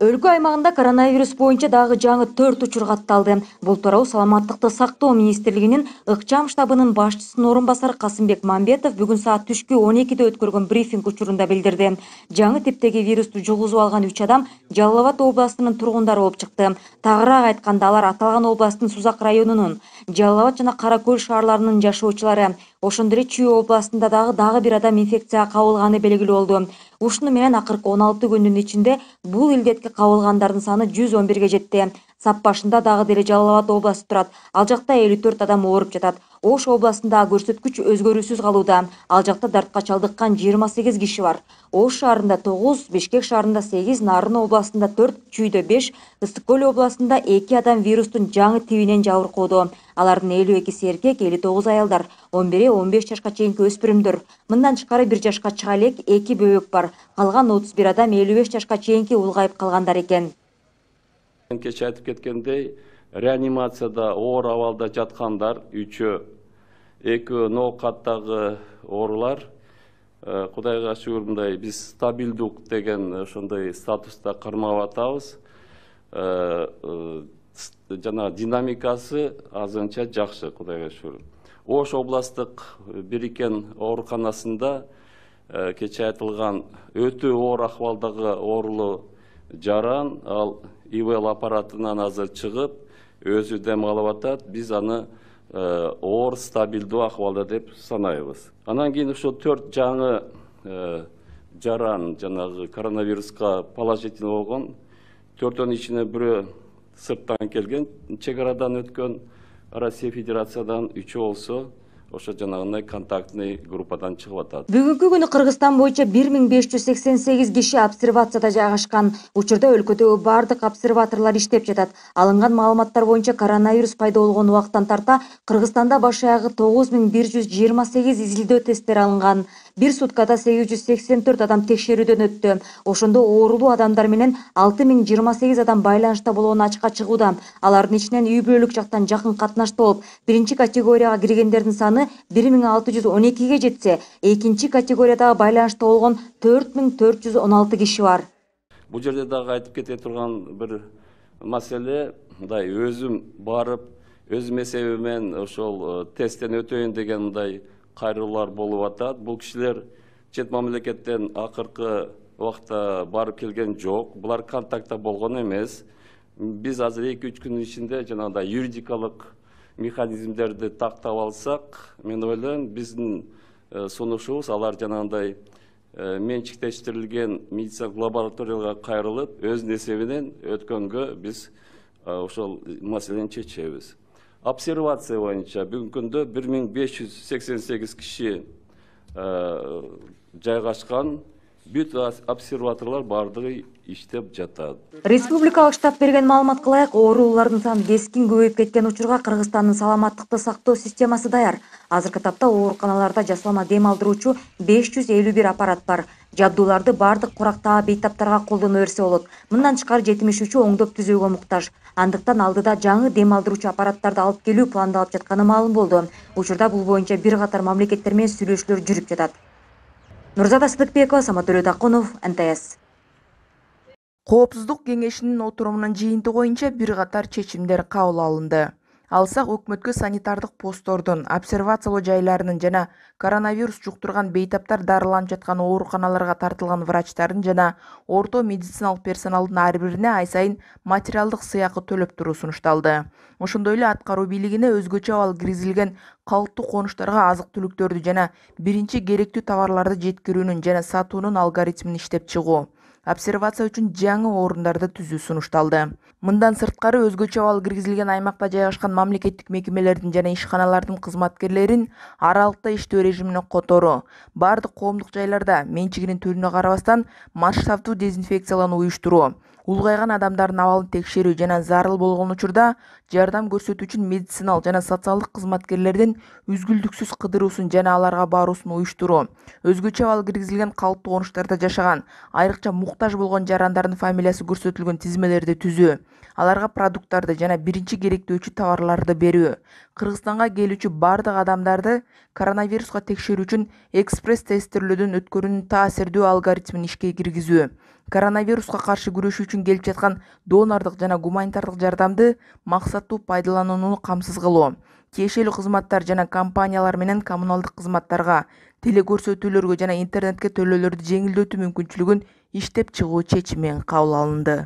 Өлкө аймагында коронавирус боюнча дагы жаңы 4 учур катталды. Бул тууралуу Саламаттыкты сактоо министрлигинин ыкчам штабынын башчысынын орун басары Касымбек Мамбетов бүгүн саат түшкү 12-де өткөргөн брифинг учурунда билдирди. Жаңы типтеги вирусту жугузуп алган 3 адам Жалал Абад областынын тургундары болуп чыкты. Тагыраак айтканда, алар аталган областтын Сузак районунун, Жалал Абад жана Кара Көл шаарларынын жашоочулары. Ошондой эле Чүй областында дагы бир адам инфекцияга кабылганы белгилүү болду. Ушуну менен акыркы 16 күндүн ичинде бул илдетке кабылгандардын саны 111ге жетти. Сап башында дагы деле Жалал Абад областы турат. Ал жакта 54 адам ооруп жатат. Ош областында көрсөткүч өзгөрүүсүз калууда. Ал жакта дартка чалдыккан 28 киши бар. Ош шаарында 9, Бишкек шаарында 8, Нарын областында 4, Чүйдө 5, Ысык Көл областында 2 адам вирустун жаңы тибинен жабыркоодо. Алардын 52 эркек, 59 аялдар, 11-15 жашка чейинки өспүрүмдөр. Мындан тышкары 1 жашка чыга элек 2 бөбөк бар. Калган 31 адам 55 жашка чейинки улгайып калгандар экен. Кече айтып кеткендей, реанимацияда оор абалда жаткандар 3-өө, 2 ноокаттагы оорулар. Кудайга шүгүр, мындай биз стабилдук деген ошондой статуста кармап атабыз. Жана динамикасы азырынча жакшы, Кудайга шүгүр. Ош областтык бириккен ооруканасында кече айтылган өтө оор акыбалдагы оорулуу жаран, ал ИВЛ аппаратынан азыр чыгып, өзү дем алып атат. Биз аны оор стабилдүү акыбалда деп санайбыз. Анан кийин ошо 4 жаңы жаран, жанагы коронавируска положительный болгон, 4-өн ичине бирөө сырттан келген, чек арадан өткөн, Россия Федерациядан 3 болсо, ошо жанагындай контактный группадан чыгып атат. Бүгүнкү күнү Кыргызстан боюнча 1588 киши обсервацияда жайгашкан. Учурда өлкөдөгү бардык обсерваторлор иштеп жатат. Алынган маалыматтар боюнча коронавирус пайда болгон убактан тарта Кыргызстанда баш аягы 9128 изилдөө тесттери алынган. Бир суткада 884 адам текшерүүдөн өттү. Ошондо оорулуу адамдар менен 6028 адам байланышта болгону ачыкка чыгууда. Алардын ичинен үй бүлөлүк жактан жакын катнашта болуп, биринчи категорияга киргендердин саны 1612ге жетсе, экинчи категориядагы байланышта болгон 4416 киши бар. Бул жерде дагы айтып кете турган бир маселе, мындай өзүм барып, өзүм эсебимен ошол тесттен өтөйүн деген мындай кайрылуулар болуп атат. Бул кишилер чет мамлекеттен акыркы убакта барып келген жок. Булар контактта болгон эмес. Биз азыр 2-3 күндүн ичинде жанагындай юридикалык механизмдерди тактап алсак, мен ойлойм, биздин сунушубуз алар жанагындай менчиктештирилген медициналык лабораторияга кайрылып, өзүнүн эсебинен өткөнгө биз ошол маселени чечебиз. Обсервация боюнча бүгүнкү күндө 1588 киши жайгашкан. Бүт обсерваторлор бардыгы иштеп жатат. Республикалык штаб берген маалыматка ылайык, оорулуулардын саны кескин көбөйүп кеткен учурга Кыргызстандын саламаттыкты сактоо системасы даяр. Азыркы тапта ооруканаларда жасалма дем алдыруучу 551 аппарат бар. Жабдууларды бардык курактагы бейтаптарга колдоно берсе болот. Мындан тышкары 73-ü оңдоп түзүүгө муктаж. Андыктан алдыда жаңы дем алдыруучу аппараттарды алып келүү пландалып жатканы маалым болду. Учурда бул боюнча бир катар мамлекеттер менен сүйлөшүүлөр жүрүп жатат. Нурзада Сыдыкбекова, Самат Төлөтакунов, НТС. Коопсуздук кеңешинин отурумунун жыйынтыгы боюнча бир катар чечимдер кабыл алынды. Алсак өкмөткө санитардык посттордун, обсервациялоо жайларынын жана коронавирус жуктурган бейтаптар дарыланып жаткан ооруканаларга тартылган врачтардын жана орто медициналык персоналдын ар бирине ай сайын материалдык сыйакы төлөп туруу сунушталды. Ошондой эле аткаруу бийлигине өзгөчө абал киргизилген калктуу конуштарга азык-түлүктөрдү жана биринчи керектүү товарларды жеткирүүнүн жана сатуунун алгоритмин иштеп чыгуу, обсервация үчүн жаңы орундарды түзүү сунушталды. Мындан сырткары өзгөчө абал киргизилген аймакта жайгашкан мамлекеттик мекемелердин жана ишканалардын кызматкерлерин аралыкта иштөө режимине которуу, бардык коомдук жайларда менчигинин түрүнө карабастан масштабдуу дезинфекциялануу уюштуруу, улгайган адамдардын абалын текшерүү жана зарыл болгон учурда жардам көрсөтүүчү медициналык жана социалдык кызматкерлердин үзгүлтүксүз кыдыруусун жана аларга баруусун уюштуруу, өзгөчө абал киргизилген калктуу конуштарда жашаган, айрыкча муктаж болгон жарандардын фамилиясы көрсөтүлгөн тизмелерди түзүү, аларга продукттарды жана биринчи керектөөчү товарларды берүү, Кыргызстанга келүүчү бардык адамдарды коронавируска текшерүү үчүн экспресс тестирлөөдөн өткөрүүнүн таасирдүү алгоритмин ишке киргизүү, Коронавируска каршы күрөшүү үчүн келип жаткан донордук жана гуманитардык жардамды максаттуу пайдаланууну камсыз кылуу, тиешелүү кызматтар жана компаниялар менен коммуналдык кызматтарга, телекөрсөтүүлөргө жана интернетке төлөөлөрдү жеңилдетүү мүмкүнчүлүгүн иштеп чыгуу чечими кабыл алынды.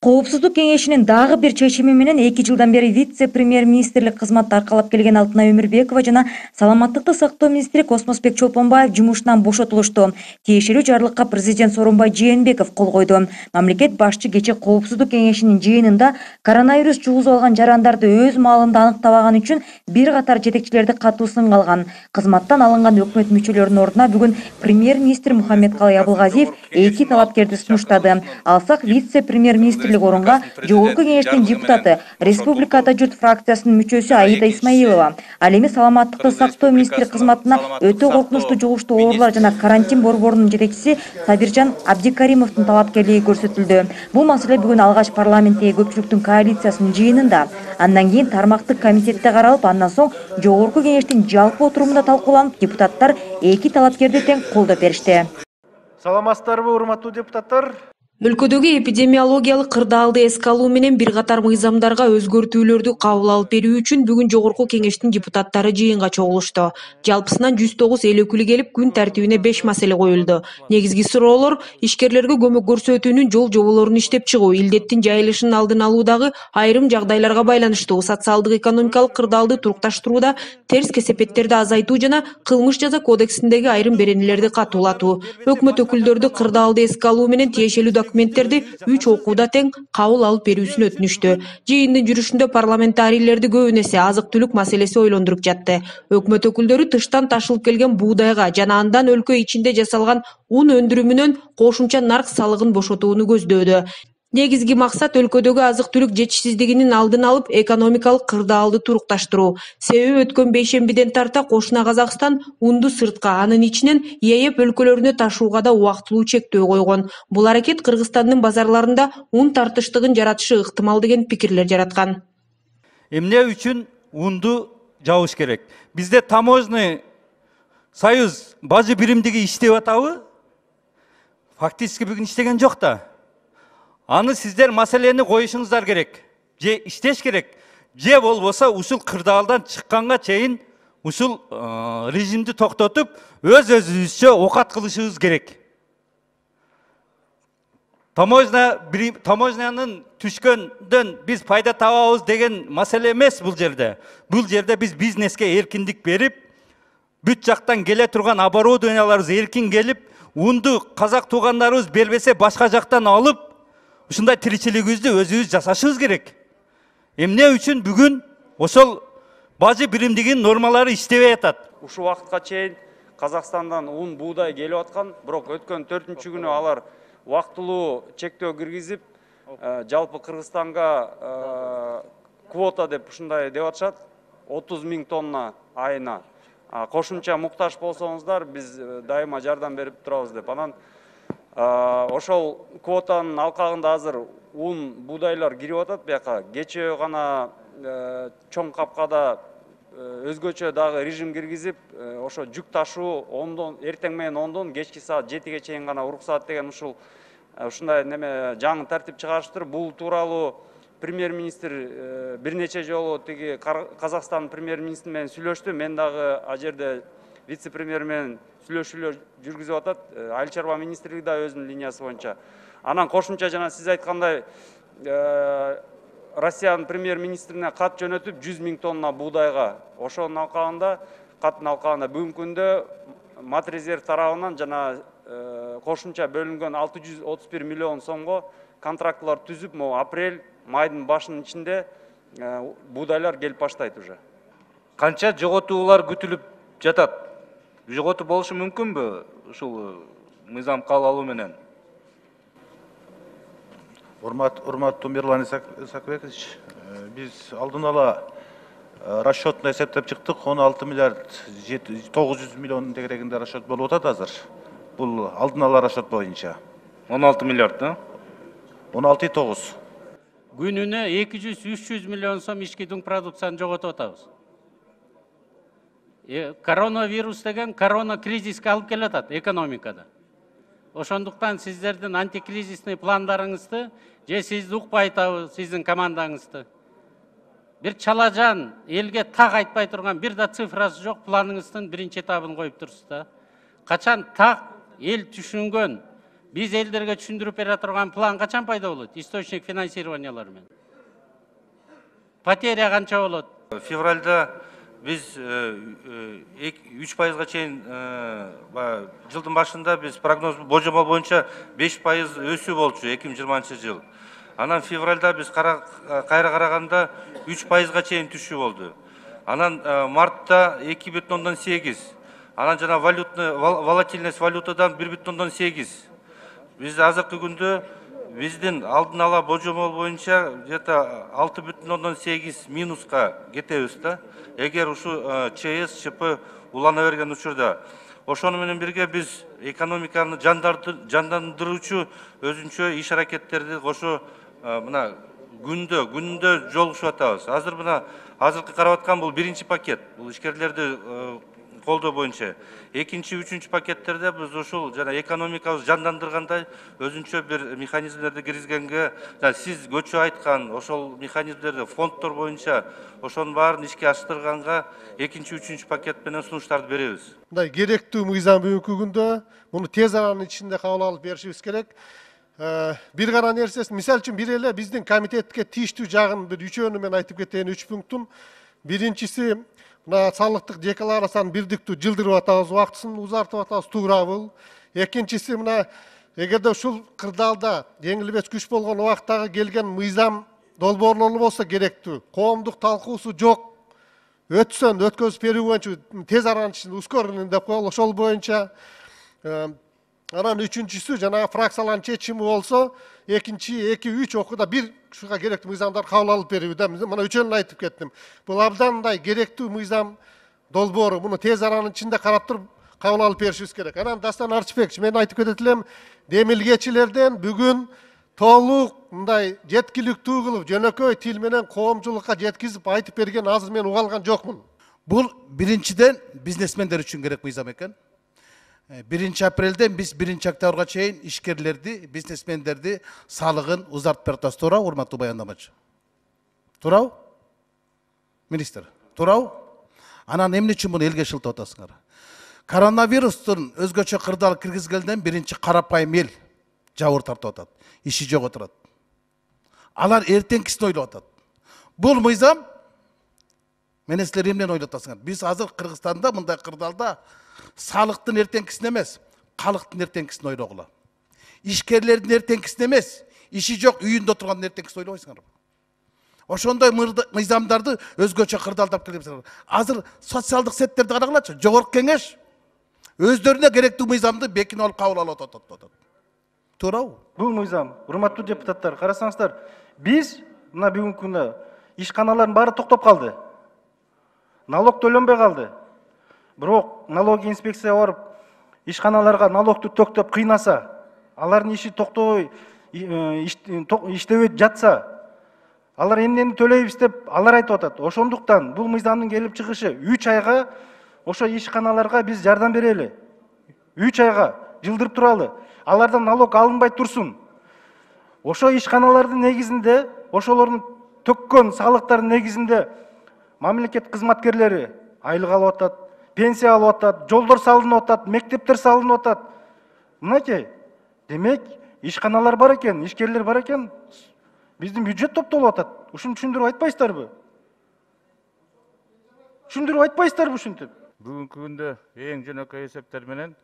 Коопсуздук кеңешинин дагы бир чечими менен 2 жылдан бери вице-премьер-министрлик кызматты аркалап келген Алтынай Өмүрбекова жана саламаттыкты сактоо министри Космосбек Чолпонбаев жумушунан бошотулушту. Тиешелүү жарлыкка президент Сооронбай Жээнбеков кол койду. Мамлекет башчы кечээ Коопсуздук кеңешинин жыйынында коронавирус жугузуп алган жарандарды өз маалында аныктабаган үчүн бир катар жетекчилерди катуу сынга алган. Кызматтан алынган өкмөт мүчөлөрүнүн ордуна бүгүн премьер-министр Мухаммедкалый Абылгазиев 2 талапкерди сунуштады. Алсак вице-премьер-министр орунга Жогорку кеңештин депутаты, Республика Ата журт фракциясынын мүчөсү Аида Исмаилова, ал эми саламаттыкты сактоо министри кызматына өтө коркунучтуу жугуштуу оорулар жана карантин борборунун жетекчиси Сабиржан Абдикаримовдун талапкерлиги көрсөтүлдү. Бул маселе бүгүн алгач парламенттеги көпчүлүктүн коалициясынын жыйынында, андан кийин тармактык комитетте каралып, андан соң Жогорку кеңештин жалпы отурумунда талкууланып, депутаттар 2 талапкерди тең колдоп беришти. Саламатсыздарбы, урматтуу депутаттар? Өлкөдөгү эпидемиологиялык кырдаалды эске алуу менен бир катар мыйзамдарга өзгөртүүлөрдү кабыл алып берүү үчүн бүгүн Жогорку кеңештин депутаттары жыйынга чогулушту. Жалпысынан 109 эл өкүлү келип, күн тартибине 5 маселе коюлду. Негизги суроолор ишкерлерге көмөк көрсөтүүнүн жол жоболорун иштеп чыгуу, илдеттин жайылышынын алдын алуудагы айрым жагдайларга байланыштуу социалдык экономикалык кырдаалды турукташтырууда терс кесепеттерди азайтуу жана кылмыш жаза кодексиндеги айрым беренелерди катуулатуу. Өкмөт өкүлдөрдү кырдаалды эске алуу менен тиешелүү документтерди 3 окууда тең кабыл алып берүүсүн өтүнүштү. Жыйындын жүрүшүндө парламентарийлерди көбүн эсе азык-түлүк маселеси ойлондуруп жатты. Өкмөт өкүлдөрү тыштан ташылып келген буудайга жана андан өлкө ичинде жасалган ун өндүрүмүнөн кошумча нарк салыгын бошотууну көздөөдү. Негизги максат өлкөдөгү азык-түлүк жетишсиздигинин алдын алып, экономикалык кырдаалды турукташтыруу. Себеби өткөн бейшембиден тарта кошуна Казакстан унду сыртка, анын ичинен ЕЭП өлкөлөрүнө ташууга да убактылуу чектөө койгон. Бул аракет Кыргызстандын базарларында ун тартыштыгын жаратышы ыктымал деген пикирлер жараткан. Эмне үчүн унду жабыш керек? Бизде таможенный союз бажы биримдиги иштеп атабы? Фактически бүгүн иштеген жок да. Аны сиздер маселени коюшуңуздар керек. Же иштеш керек. Же болбосо ушул кырдаалдан чыкканга чейин ушул режимди токтотуп, өз-өзүбүзчө окат кылышыбыз керек. Таможнянын түшкөндөн биз пайда табабыз деген маселе эмес бул жерде. Бул жерде биз бизнеске эркиндик берип, бүт жактан келе турган оборудованияларыбыз эркин келип, унду казак туугандарыбыз бербесе башка жактан алып, ушундай тиричилигибизди өзүбүз жасашыбыз керек. Эмне үчүн бүгүн ошол бажы биримдигинин нормалары иштебей атат? Ушул убакытка чейин Казакстандан ун, буудай келип аткан, бирок өткөн 4-күнү алар убактылуу чектөө киргизип, жалпы Кыргызстанга квота деп ушундай деп атышат, 30 000 тонна айына. Кошумча муктаж болсоңуздар, биз дайыма жардам берип турабыз деп. Анан ошол квотанын алкагында азыр ун, буудайлар кирип атат бияка. Кечээ гана чоң капкада өзгөчө дагы режим киргизип, ошо жүк ташуу эртең менен 10-дон кечки саат 7-ге чейин гана уруксаат деген ушундай неме жаңы тартип чыгарыштыр. Бул тууралуу премьер-министр бир нече жолу тиги Казакстан премьер-министри менен сүйлөштү. Мен дагы а жерде вице-премьер менен сүйлөшүүлөр жүргүзүп атат. Айыл чарба министрлиги да өзүнүн линиясы боюнча. Анан кошумча жана сиз айткандай Россиянын премьер-министрине кат жөнөтүп 100 000 тонна буудайга, ошонун алкагында, каттын алкагында бүгүнкү күндө Матрезерв тарабынан жана кошумча бөлүнгөн 631 миллион сомго контрактылар түзүп, апрель, майдын башынын ичинде буудайлар келип баштайт уже. Канча жоготуулар күтүлүп жатат? Жоготуу болушу мүмкүнбү ушул мыйзам кабыл алуу менен? Урматтуу Мирлан Исакович, биз алдын ала расчетно эсептеп чыктык. 16 миллиард 900 миллион тегерегинде расчет болуп атат азыр. Бул алдын ала расчет боюнча. 16 миллиард, да? 16,9. Күнүнө 200-300 миллион сом ички продукцияны жоготуп атабыз. Коронавирус деген корона кризиске алып келатат экономикада. ошондуктан сиздердин антикризисный пландарыңызды же сизди укпай атабы сиздин командаңызды. Бир чалажан, элге так айтпай турган бир да цифрасы жок планыңыздын биринчи этабын коюп турсуз да. Качан так эл түшүнгөн, биз элдерге түшүндүрүп бере турган план качан пайда болот? Источник финансированиялары менен. Потеря канча болот? Февральда biz 3%га чейин жылдын башында biz прогноз божомол боюнча 5% өсүү болчу 2020 жыл. Анан февральда biz кайра караганда 3%га чейин түшүү болду. Анан мартта 2,8. Анан жана волатильность валютадан 1,8. Biz азыркы күндө биздин алдын ала божомол боюнча где-то 6,8 минуска кетебиз да. Эгер ушу ЧС, ЧП улана берген учурда. Ошону менен бирге биз экономиканы жандандыруучу өзүнчө иш аракеттерди кошо мына күндө жолугушуп атабыз. Азыр мына азыркы карап аткан бул биринчи пакет. Бул ишкерлерди колдоо боюнча. Экинчи, үчүнчү пакеттерде биз ушул жана экономикабызды жандандыргандай өзүнчө бир механизмдерди киргизгенге, сиз көчө айткан ошол механизмдерди фонддор боюнча ошонун баарын ишке аштырганга экинчи, үчүнчү пакет менен сунуштарды беребиз. Мындай керектүү мыйзам бүгүнкү күндө муну тез аранын ичинде кабыл алып беришибиз керек. Бир гана нерсеси, мисалы үчүн бир эле биздин комитетке тийиштүү жагын бир үчөөнү мен айтып кетейин, 3 пунктун. Биринчиси мына салыктык декларацияны бирдиктүү жылдырып атабыз, убактысын узартып атабыз, туурабыл. Экинчиси мына эгерде ушул кырдаалда жеңилбес күч болгон убактагы келген мыйзам долбоорлору болсо керектүү. Коомдук талкуусу жок. Өткөзүп берүү боюнча тез аранын ичинде ускоренный деп коелу, ошол боюнча. Анан үчүнчүсү жана фракциялардын чечими болсо, экинчи 2-3 окууда бир ушуга керектүү мыйзамдар кабыл алып берүү да. Мына үчөөнүн айтып кеттим. Бул абдан мындай керектүү мыйзам долбоору. Муну тез аранын ичинде карап туруп кабыл алып беришибиз керек. Анан Дастан Арчыбекович, мен айтып кетет элем, демилгечилерден бүгүн толук мындай жеткиликтүү кылып, жөнөкөй тил менен коомчулукка жеткизип айтып берген азыр мен уга алган жокмун. Бул биринчиден бизнесмендер үчүн керек мыйзам экен. 1 апрелден биз 1 октябрга чейин ишкерлерди, бизнесмендерди салыгын узартып берип атабыз. Туурабы, урматтуу баяндамачы? Туурабы? Министр, туурабы? Анан эмне үчүн муну элге шылтап атасыңар? Коронавирустун өзгөчө кырдаал киргизгенден биринчи карапайым эл жабыр тартып атат, иши жок отурат. Алар эртеңкисин ойлоп атат. Бул мыйзам менен силер эмнени ойлоп атасыңар? Биз азыр Кыргызстанда мындай кырдаалда салыктын эртеңкисин эмес, калктын эртеңкисин ойлогула. Ишкерлердин эртеңкисин эмес, иши жок үйүндө отургандын эртеңкисин ойлобойсуңарбы? Ошондой мыйзамдарды өзгөчө кырдаалдап келебиз. Азыр социалдык сеттерди карагылачы, жогорку кеңеш өздөрүнө керектүү мыйзамды бекинип алып кабыл алып атат. Туурабы? Бул мыйзам, урматтуу депутаттар, карасаңыздар, биз мына бүгүнкү күндө ишканалардын баары токтоп калды. Налог төлөнбөй калды. Бирок налоги инспекция барып ишканаларга налогду төктөп кыйнаса, алардын иши токтобой иштебей жатса, алар эмнени төлөйбүз деп алар айтып атат. Ошондуктан бул мыйзамдын келип чыгышы 3 айга ошо ишканаларга биз жардам берели. 3 айга жылдырып туралы. Алардан налог алынбай турсун. Ошо ишканалардын негизинде, ошолордун төккөн салыктардын негизинде мамлекет кызматкерлери айлык алып атат, пенсия алып атат, жолдор салынып атат, мектептер салынып атат. Мынакей, демек ишканалар бар экен, ишкерлер бар экен, биздин бюджет топтолуп атат. Ушуну түшүндүрүп айтпайсыздарбы? Түшүндүрүп айтпайсыздарбы ушинтип? Бүгүнкү күндө эң жөнөкөй эсептер менен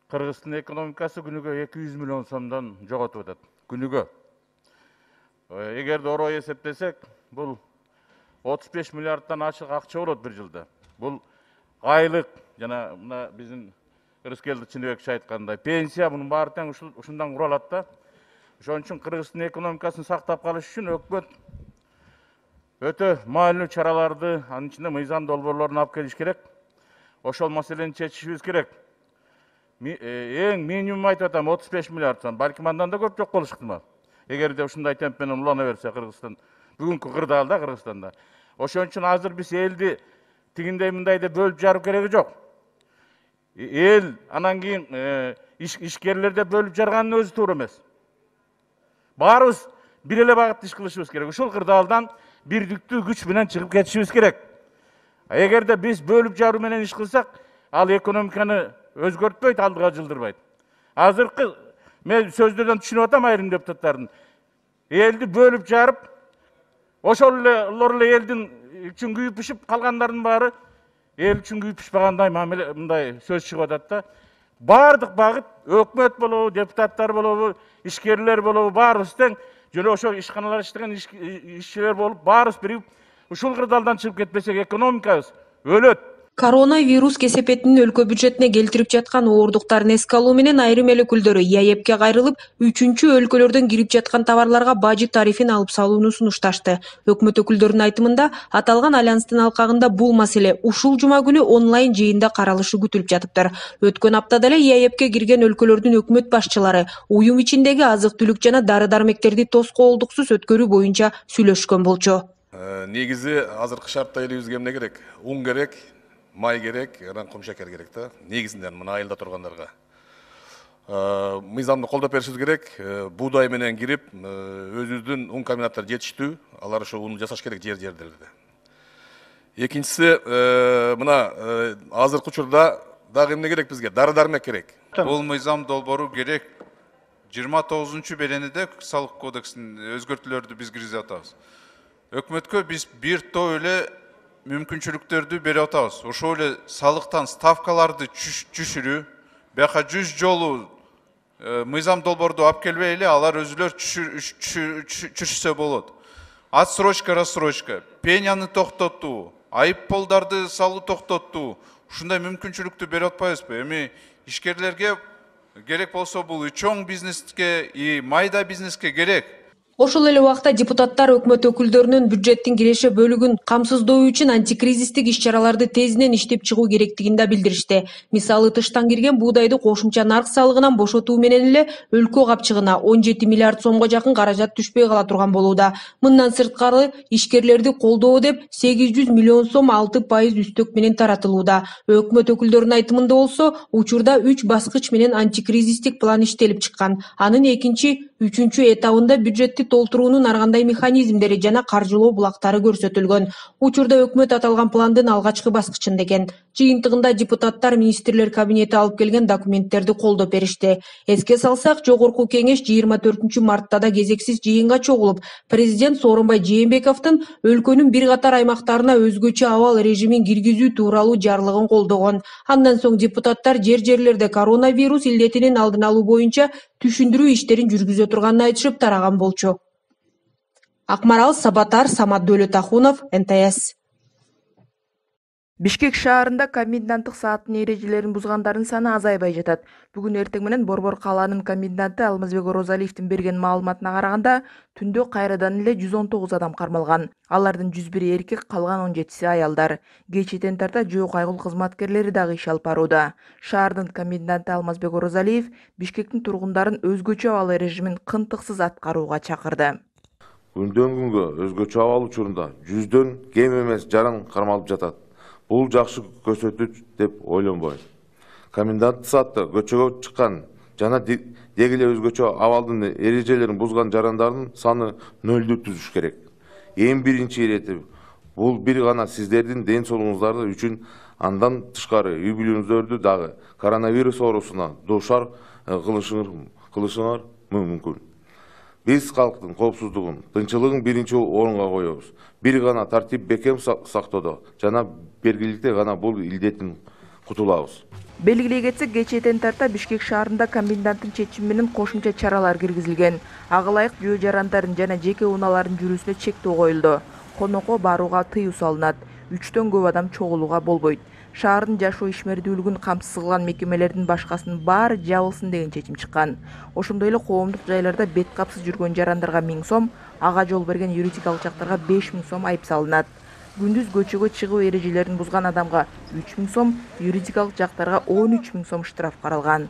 Кыргыздын экономикасы күнүгө 200 миллион сомдон жоготуп атат. Күнүгө. Эгерде орой эсептесек, бул 35 миллиардтан ашык акча болот бир жылда. Бул айлык жана мына биздин Рыскелди Чыныбекович айткандай пенсия мунун баары тең ушундан куралат да. Ошон үчүн Кыргыздын экономикасын сактап калыш үчүн өкмөт өтө маанилүү чараларды, анын ичинде мыйзам долбоорлорун алып келиш керек. Ошол маселени чечишибиз керек. Эң минимум айтып атам 35 миллиард сом, балким андан да көп жок болуш ыктымал. Эгерде ушундай темп менен улана берсе Кыргызстан, бүгүнкү кырдаалда Кыргызстанда. Ошон үчүн азыр биз элди тигиндей мындай деп бөлүп жарып кереги жок. эл анан кийин ишкерлерде бөлүп жарганын өзү туура эмес. Баарыбыз бир эле багытта иш кылышыбыз керек. Ушул кырдаалдан бирдиктүү күч менен чыгып кетишибиз керек. Эгерде биз бөлүп жаруу менен иш кылсак, ал экономиканы өзгөртпөйт, алдыга жылдырбайт. Азыркы мен сөздөрдөн түшүнүп атам айрым депутаттардын. Элди бөлүп жарып, ошол эле элдин үчүн күйүп пишип, калгандардын баары эл үчүн күйүп пишпагандай мамиле мындай сөз чыгып атат да. Бардык багыт өкмөт болобу, депутаттар болобу, ишкерлер болобу, баарыбыз тең жөн ошо ишканалар иштеген ишчилер болуп, баарыбыз биригип ушул кырдаалдан чыгып кетпесек, экономикабыз өлөт. Коронавирус кесепетинин өлкө бюджетине келтирип жаткан оордуктарын эске алуу менен айрым эл өкүлдөрү ИАЭПке кайрылып, үчүнчү өлкөлөрдөн кирип жаткан товарларга бажы тарифин алып салууну сунушташты. Өкмөт өкүлдөрүнүн айтымында, аталган альянстын алкагында бул маселе ушул жума күнү онлайн жыйында каралышы күтүлүп жатыптыр. Өткөн аптада эле ИАЭПке кирген өлкөлөрдүн өкмөт башчылары уюм ичиндеги азык-түлүк жана дары-дармектерди тоскоолдуксуз өткөрүү боюнча сүйлөшкөн болчу. Негизи азыркы шартта элибизге эмне керек? Ун керек, май керек, анан кум шекер керек да. Негизинен мына айылда тургандарга. Мыйзамды колдоп беришибиз керек. Буудай менен кирип, өзүбүздүн ун комбинаттары жетиштүү. Алар ошо уну жасаш керек жер-жерлерде. Экинчиси, мына азыркы учурда дагы эмне керек бизге? Дары-дармек керек. Бул мыйзам долбоору керек. 29-беренеде салык кодексинин өзгөртүүлөрдү биз киргизип атабыз. Өкмөткө биз бир топ эле мүмкүнчүлүктөрдү берип атабыз. Ошол эле салыктан ставкаларды түшүрүү, бияка 100 жолу мыйзам долбоорду алып келбей эле алар өзүлөр түшүрсө болот. Отсрочка, рассрочка, пеняны токтотуу, айыпполдарды салуу токтотуу, ушундай мүмкүнчүлүктү берип атпайбызбы? Эми ишкерлерге керек болсо бул чоң бизнеске, майда бизнеске керек. Ошол эле убакта депутаттар өкмөт өкүлдөрүнүн бюджеттин киреше бөлүгүн камсыздоо үчүн антикризистик иш-чараларды тезинен иштеп чыгуу керектигин да билдиришти. Мисалы, тыштан кирген буудайды кошумча нарк салыгынан бошотуу менен эле өлкө капчыгына 17 миллиард сомго жакын каражат түшпөй кала турган болууда. Мындан сырткары, ишкерлерди колдоо деп 800 миллион сом 6% үстөк менен таратылууда. Өкмөт өкүлдөрүнүн айтымында болсо, учурда 3 баскыч менен антикризистик план иштелип чыккан. Анын экинчи, үчүнчү этабында бюджетти толтуруунун ар кандай механизмдери жана каржылоо булактары көрсөтүлгөн. Учурда өкмөт аталган пландын алгачкы баскычында экен. Жыйынтыгында депутаттар министрлер кабинети алып келген документтерди колдоп беришти. Эске салсак, жогорку кеңеш 24 мартта да кезексиз жыйынга чогулуп, президент Сооронбай Жээнбековдун өлкөнүн бир катар аймактарына өзгөчө абал режимин киргизүү тууралуу жарлыгын колдогон. Андан соң депутаттар жер-жерлерде коронавирус илдетинин алдын алуу боюнча түшүндүрүү иштерин жүргүзө турганын айтышып тараган болчу. Акмарал Сабатар, Самат Дөөлөтахунов, НТС. Бишкек шаарында коменданттык сааттын эрежелерин бузгандардын саны азайбай жатат. Бүгүн эртең менен Борбор калаанын коменданты Алмазбек Орозалиевдин берген маалыматына караганда, түндө кайрадан эле 119 адам кармалган. Алардын 101 эркек, калган 17си аялдар. Кечэтен тарта жөө кайгыл кызматкерлери дагы иш алып барууда. Шаардын коменданты Алмазбек Орозалиев Бишкектин тургундарын өзгөчө абал режимин кынтыксыз аткарууга чакырды. Күндөн күнгө өзгөчө абал учурунда 100дөн кем эмес жаран кармалып жатат. Бул жакшы көрсөткүч деп ойлонбойм. Коменданттык саатта көчөгө чыккан жана дегеле өзгөчө абалдын эрежелерин бузган жарандардын саны 0 түзүш керек. Эң биринчи ирети бул бир гана сиздердин ден соолугуңуздар үчүн, андан тышкары үй бүлөңүздөрдү дагы коронавирус оорусуна дуушар кылышыңар мүмкүн. Биз калктын коопсуздугун, тынччылыгын биринчи орунга коебуз. Бир гана тартип бекем сактоодо жана бергиликте гана бул илдеттен кутулабыз. Белгилей кетсек, кечэтен тарта Бишкек шаарында коменданттын чечими менен кошумча чаралар киргизилген. Ага ылайык жөө жарандардын жана жеке унаалардын жүрүүсүнө чектөө коюлду. Конокко барууга тыюу салынат. 3төн көп адам чогулууга болбойт. Шаардын жашоо ишмердүүлүгүн камсыз кылган мекемелердин башкасынын баары жабылсын деген чечим чыккан. Ошондой эле коомдук жайларда бет капсыз жүргөн жарандарга 1000 сом, ага жол берген юридикалык жактарга 5000 сом айып салынат. Күндүз көчөгө чыгуу эрежелерин бузган адамга 3000 сом, юридикалык жактарга 13000 сом штраф каралган.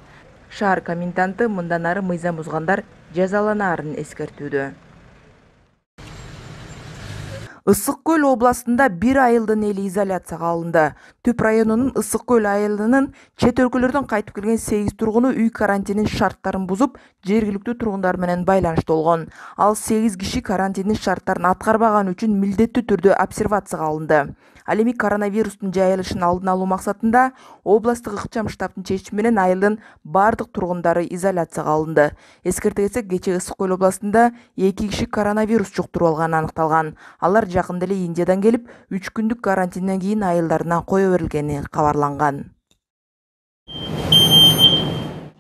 Шаар коменданты мындан ары мыйзам бузгандар жазаланаарын эскертүүдө. Ысык Көл областында бир айылдын эли изоляцияга алынды. Түп районунун Ысык Көл айылынын чет өлкөлөрдөн кайтып келген 8 тургуну үй карантинин шарттарын бузуп, жергиликтүү тургундар менен байланышта болгон. Ал 8 киши карантиндин шарттарын аткарбаганы үчүн милдеттүү түрдө обсервацияга алынды. Ал эми коронавирустун жайылышын алдын алуу максатында областтык ыкчам штабтын чечими менен айылдын бардык тургундары изоляцияга алынды. Эскерте кетсек, кечээ Ысык Көл областында 2 киши коронавирус жуктуруп алганы аныкталган. Алар жакында эле Индиядан келип, 3 күндүк карантинден кийин айылдарына кое берилгени кабарланган.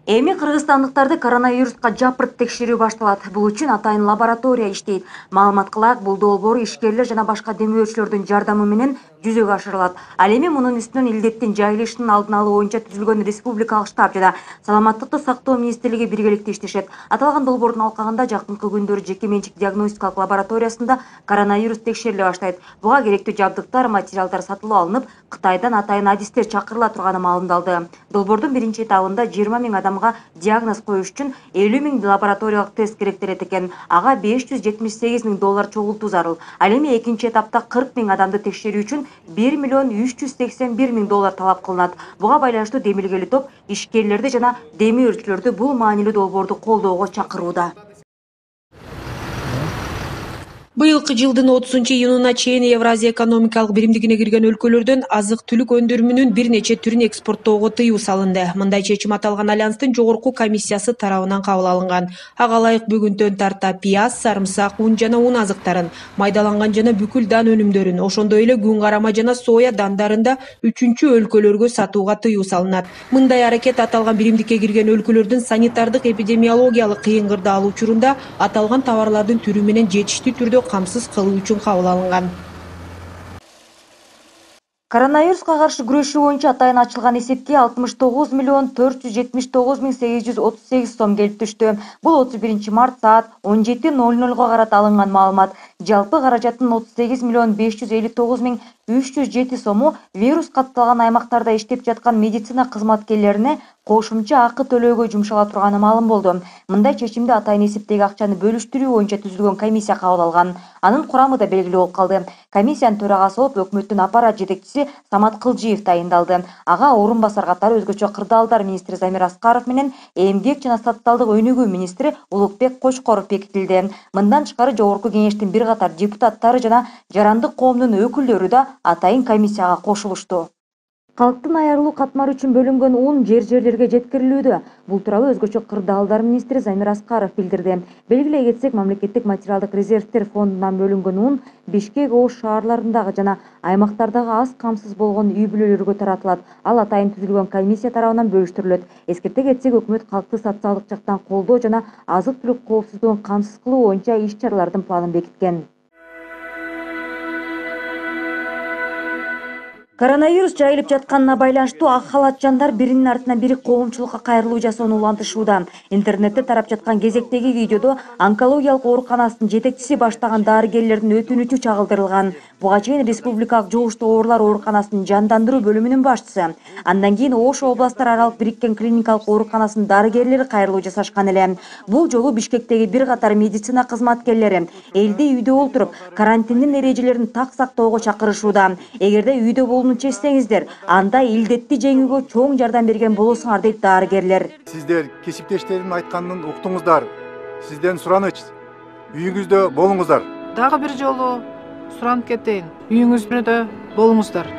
Эми кыргызстандыктарды коронавируска жапырт текшерүү башталат. Бул үчүн атайын лаборатория иштейт. Маалыматка ылайык, бул долбоор ишкерлер жана башка демөөчүлөрдүн жардамы менен жүзөгө ашырылат. Ал эми мунун үстүнөн илдеттин жайылышынын алдын алуу боюнча түзүлгөн республикалык штаб жана Саламаттыкты сактоо министрлиги биргеликте иштешет. Аталган долбоордун алкагында жакынкы күндөрү жеке менчик диагностикалык лабораториясында коронавирус текшериле баштайт. Буга керектүү жабдыктар, материалдар сатылып алынып, Кытайдан атайын адистер чакырыла турганы маалымдалды. Долбоордун биринчи этабында 20 000 адамга диагноз коюш үчүн 50 000 лабораториялык тест керектелет экен. Ага $578 000 чогултуу зарыл. Ал эми экинчи этапта 40 000 адамды текшерүү үчүн $1 381 000 талап кылынат. Буга байланыштуу демилгели топ ишкерлерди жана демөөрчүлөрдү бул маанилүү долбоорду колдоого чакырууда. Быйылкы жылдын 30-июнуна чейин Евразия экономикалык биримдигине кирген өлкөлөрдөн азык-түлүк өндүрүмүнүн бир нече түрүн экспорттоого тыюу салынды. Мындай чечим аталган альянстын жогорку комиссиясы тарабынан кабыл алынган. Ага ылайык бүгүнтөн тарта пияз, сарымсак, un жана un азыктарын, майдаланган жана бүкүл дан өнүмдөрүн, ошондой эле күн карама жана соя дандарын да 3-чү өлкөлөргө сатууга тыюу салынат. Мындай аракет аталган биримдикке кирген өлкөлөрдүн санитардык эпидемиологиялык кыйын-кырдаал учурунда аталган товарлардын түрү менен жетиштүү түрдө камсыз кылуу үчүн кабыл алынган. Коронавируска каршы күрөшүү боюнча атайын ачылган эсепке 69 479 838 сом келип түштү. Бул 31 март саат 17:00 карата алынган маалымат. Жалпы каражаттын 38 559 307 сому вирус катталган аймактарда иштеп жаткан медицина кызматкерлерине кошумча акы төлөөгө жумшала турганы маалым болду. Мындай чечимди атайын эсептеги акчаны бөлүштүрүү боюнча түзүлгөн комиссия кабыл алган. Анын курамы да белгилүү болуп калды. Комиссиянын төрагасы болуп өкмөттүн аппарат жетекчиси Самат Кылжиев тайындалды. Ага орун басар катары өзгөчө кырдаалдар министри Замир Аскаров менен эмгек жана социалдык өнүгүү министри Улукбек Кочкоров бекитилди. Мындан тышкары жогорку кеңештин бир катар депутаттары жана жарандык коомдун өкүлдөрү да атайын комиссияга кошулушту. Калктын айырылуу катмары үчүн бөлүнгөн un жерлерге жеткирилүүдө. Бул тууралуу өзгөчө кырдаалдар министри Замир Аскаров билдирди. Белгилей кетсек, мамлекеттик материалдык резервтер фондунан бөлүнгөн un Бишкек, Ош шаарларындагы жана аймактардагы аз камсыз болгон үй бүлөлөргө таратылат. Ал атайын түзүлгөн комиссия тарабынан бөлүштүрүлөт. Эскерте кетсек, өкмөт калкты социалдык жактан колдоо жана азык-түлүк коопсуздугун камсыз кылуу боюнча иш-чаралардын планын бекиткен. Коронавирус жайылып жатканына байланыштуу ак халатчандар биринин артынан бири коомчулукка кайрылуу жасоону улантышууда. Интернетте тарап жаткан кезектеги видеодо онкологиялык ооруканасынын жетекчиси баштаган дарыгерлердин өтүнүчү чагылдырылган. Буга чейин республикалык жугуштуу оорулар ооруканасынын жандандыруу бөлүмүнүн башчысы, андан кийин Ош областтар аралык бириккен клиникалык ооруканасынын дарыгерлери кайрылуу жасашкан эле. Бул жолу Бишкектеги бир катар медицина кызматкерлери элди үйдө олтуруп, карантиндин эрежелерин так сактоого чакырышууда. Эгерде үйдө чечсеңиздер, анда илдетти жеңүүгө чоң жардам берген болосуңар, дейт дарыгерлер. Сиздер кесиптештердин айтканын уктуңуздар. Сизден сураныч, үйүңүздө болуңуздар. Дагы бир жолу суранып кетейин, үйүңүздө болуңуздар.